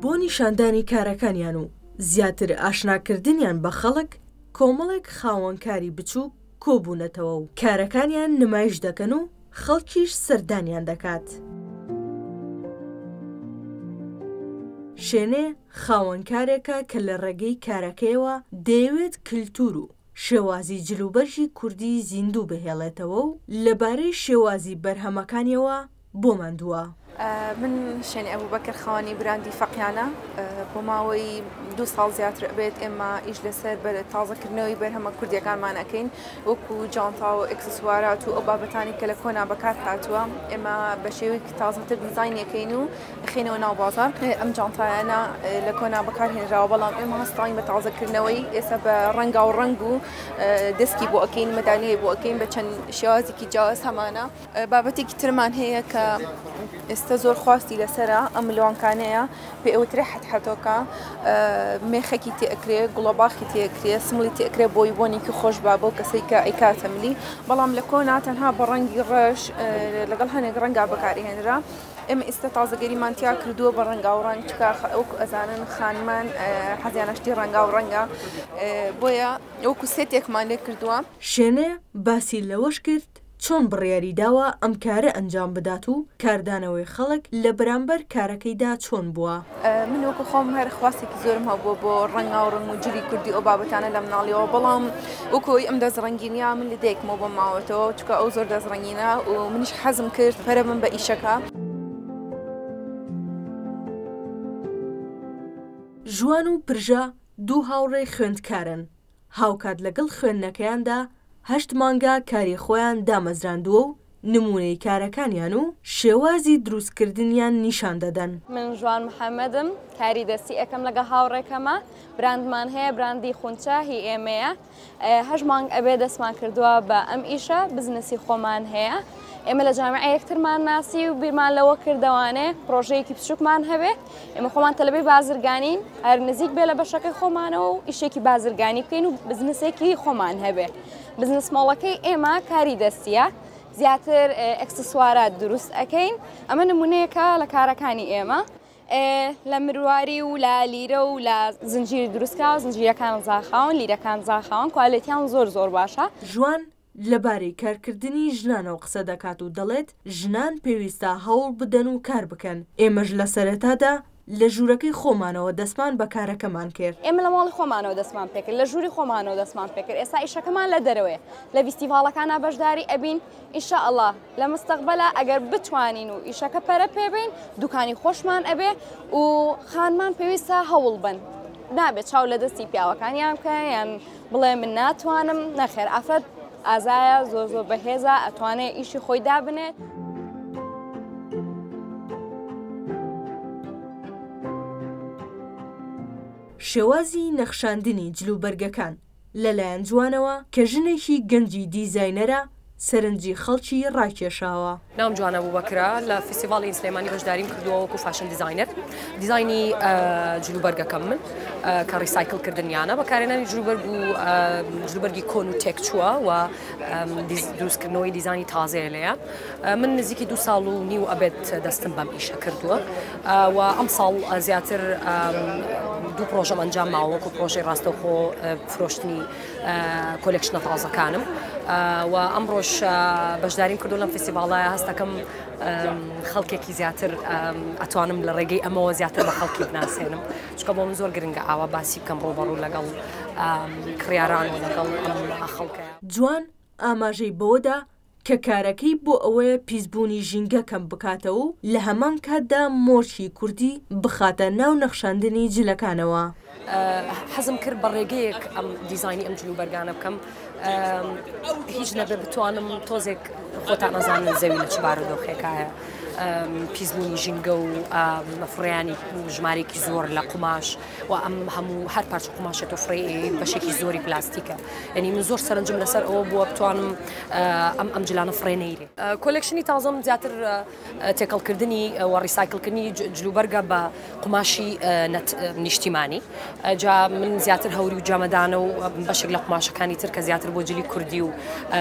بۆ نیشاندانی کارەکانیان و زیاتر ئاشناکردنیان بە خەڵک، کۆمەڵێک خاوەنکاری بچووک کۆبوونەتەوە و کارەکانیان نمایش دەکەن و خەڵکیش سەردانیان دەکات. شێنێ خاوەنکارێکە کە لە ڕێگەی کارەکەیەوە دەیەوێت کلتور و شێوازی جلوبەرگی کوردی زیندوو بهێڵێتەوە و لەبارەی شێوازی بەرهەمەکانیەوە بۆمان دووا. من شێنی ئەبوبەکر خاوەنی براندی فەقیانە، بۆ ماوەی دوو ساڵ زیاتر ئەبێت ئێمە ئیش لەسەر تازەکردنەوەی بەرهەمە کوردیەکانمان ئەکەین وەکو جانتا و ئێکسسوارات و ئەو بابەتانی کە لە کۆنا بەکار هاتووە ئێمە بە شێوەیەکی تازەتر دیزاینی ئەکەین و ئەخەینەوە ناو بازاڕ. ئەم جانتایانە لە کۆنا بەکار هێنراوە بەڵام ئێمە هەستاین بە تازەکردنەوەی ئێستا بە ڕەنگاو ڕەنگ و دەسکی بۆ ئەکەین مەدالیای بۆ ئەکەین بە چەند شێوازێکی جیاواز هەمانە. بابەتێکی ترمان هەیە کە ئێستا زۆر خواستی لەسەرە ئەم ملوانکانەیە پێ ئەوترێ حەتحەتۆکە مێخەکی تێئەکرێ گوڵەباخی تێئەکرێ سمڵی تێئەکرێ بۆی بۆنێکی خۆش با بەو کەسەی کە ئەیکاتە ملی بەڵام لە کۆنا تەنها بە ڕەنگی ڕەش لەگەڵ هەنێک ڕەنگا بەکارهێنرا ئێمە ئێستا تازەگەریمان تیا کردووە بە ڕەنگاو ڕەنگ چکا وەکو ئەزانن خانمان حەزیانە شتی ڕەنگاو ڕەنگە بۆیە وەکو سێتێکمان لێ کردووە. شێنێ باسی لەوەش کرد، چۆن بڕیاری داوە ئەم کارە ئەنجام بدات و کاردانەوەی خەڵک لە بەرامبەر کارەکەیدا چۆن بووە؟ من وەکو خۆم هەر خواستێکی زۆرم هەبووە بۆ ڕەنگاو ڕەنگ و جلی کوردی ئەو بابەتانە لە مناڵیەوە بەڵام وەکو ئەوەی ئەم دەست ڕەنگینیە من لە دایکمەوە بۆم ماوەتەوە چونکە ئەو زۆر دەست ڕەنگینە و منیش حەزم کرد پەرە بم بە ئیشەکە. ژوان و پرژە دوو هاوڕێی خوێندکارن، هاوکات لەگەڵ خوێندنەکەیاندا هەشت مانگە کاری خۆیان دامەزراندووە و نموونەی کارەکانیان و شێوازی دروستکردنیان نیشان دەدەن. من ژوان محەمەدم، کاری دەستی ئەکەم لەگەڵ هاوڕێکەمە، براندمان هەیە، براندی خونچە هی ئێمەیە، هەشت مانگ ئەبێ دەستمان کردووە بە ئەم ئیشە، بزنسی خۆمان هەیە. ئێمە لە جامیعە یەکترمان ناسی و بیرمان لەوە کردەوانێ پرۆژەیەکی بچووکمان هەبێ. ئێمە خۆمان تەلەبەی بازرگانین، هەر نزیک بێ لە بەشەکەی خۆمانەوە و ئیشێکی بازرگانی بکەین و بزنسێکی خۆمان هەبێ. بزنس مۆڵەکەی ئێمە کاری دەستیە، زیاتر ئەکسسوارات دروست ئەکەین. ئەمە نمونەیەکە لە کارەکانی ئێمە. لە مرواری و لە لیرە و لە زنجیر دروستکراوە، زنجیرەکان زاخاون، لیرەکان زاخاون، کوالێتیان زۆر زۆر باشە. ژوان لەبارەی کارکردنی ژنانەوە قسە دەکات و دەڵێت، ژنان پێویستە هەوڵ بدەن و کار بکەن، ئێمەش لە سەرەتادا لە ژوورەکەی خۆمانەوە دەستمان بە کارەکەمان کرد. ئێمە لە ماڵی خۆمانەوە دەستمان پێکرد، لە ژووری خۆمانەوە دەستمان پێکرد، ئێستا ئیشەکەمان لە دەرەوەیە، لە ڤیستیڤاڵەکانا بەشداری ئەبین، ان شاء اللە لە مستەقبەلا ئەگەر بتوانین و ئیشەکە پەرە پێ بەین دوکانی خۆشمان ئەبێ و خانمان پێویستە هەوڵ بن نابێت چاو لە دەستی پیاوەکانیان بکەن یان بڵێ من ناتوانم نەخێر ئافرەت ئازایە زۆر زۆر بەهێزە ئەتوانێ ئیشی خۆی دابنێت. شێوازی نەخشاندنی جلوبەرگەکان لەلایەن جوانەوە کە ژنێکی گەنجی دیزاینەرە سەرنجی خەڵکی ڕاکێشاوە. ناوم جوان ئەبوبەکرە، لە فیستیڤاڵی سلێمانی بەشداریم کردووە وەکو fashion designer، دیزاینی جلوبەرگەکەم من کە recycle کردنیانە، بەکارهێنانی جلوبەرگ و جلوبەرگی کۆن و تێکچووە و دروستکردنەوەی دیزانی تازەیە لێیان. من نزیکی دوو ساڵ و نیو ئەبێت دەستم بەم ئیشە کردووە و ئەم ساڵ زیاتر دوو پرۆژەم ئەنجام ماوە وەکو پرۆژەی ڕاستەوخۆ فرۆشتنی collection ە تازەکانم و ئەمڕۆش بەشداریم کردو لەم فیستیڤاڵایە هەستەکەم خەڵکێکی زیاتر ئەتوانم لە ڕێگەی ئەمەوە زیاتر بە خەڵکی بناسێنم چونکە بۆ من زۆر گرنگە ئاوا باسی بکەم ڕووبەڕوو لەگەڵ کڕیاران و لەگەڵ ئەم خەڵکە. جوان ئاماژەی بەوەدا کە کارەکەی بۆ ئەوەیە پیسبوونی ژینگە کەم بکاتەوە و لە هەمان کاتدا مۆرکی کوردی بخاتە ناو نەخشاندنی جلەکانەوە. حەزم کرد بە ڕێگەیەک ئەم دیزاینی ئەم جلوبەرگانە بکەم هیچ نەبێ بتوانم تۆزێک خۆتان ئەزانن زەوی لە چ بارودۆخێکایە پیسبوونی ژینگە و فڕێیانی ژمارێکی زۆر لە قوماش و ئەم هەموو هەر پارچە قوماشێ تۆ فڕێ بەشێکی زۆری پلاستیکە یعنی من زۆر سەرنجم لەسەر ئەوە بووە بتوانم ئەم ئەم جلانە فڕێ نەیرێ collection ی تازەم زیاتر تێکەڵکردنی و recycle کردنی جلوبەرگە بە قوماشی نیشتیمانی جا من زیاتر هەوری و جەمەدانە و بەشێک لە قوماشەکانی تر کە زیاتر بۆ جلی کوردی و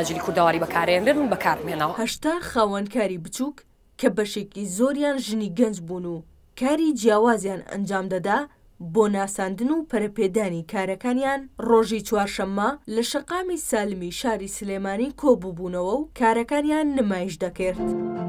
جلی کوردەواری بەکارێنرێن من بەکارمێنەوە. 80 خاوەنکاری بچووک کە بەشێکی زۆریان ژنی گەنج بوون و. کاری جیاوازیان ئەنجام دەدا بۆ ناساندن و پەرەپێدانی کارەکانیان، ڕۆژی چوارشەممە لە شەقامی سالمی شاری سلێمانی کۆبووبوونەوە و کارەکانیان نمایش دەکرد.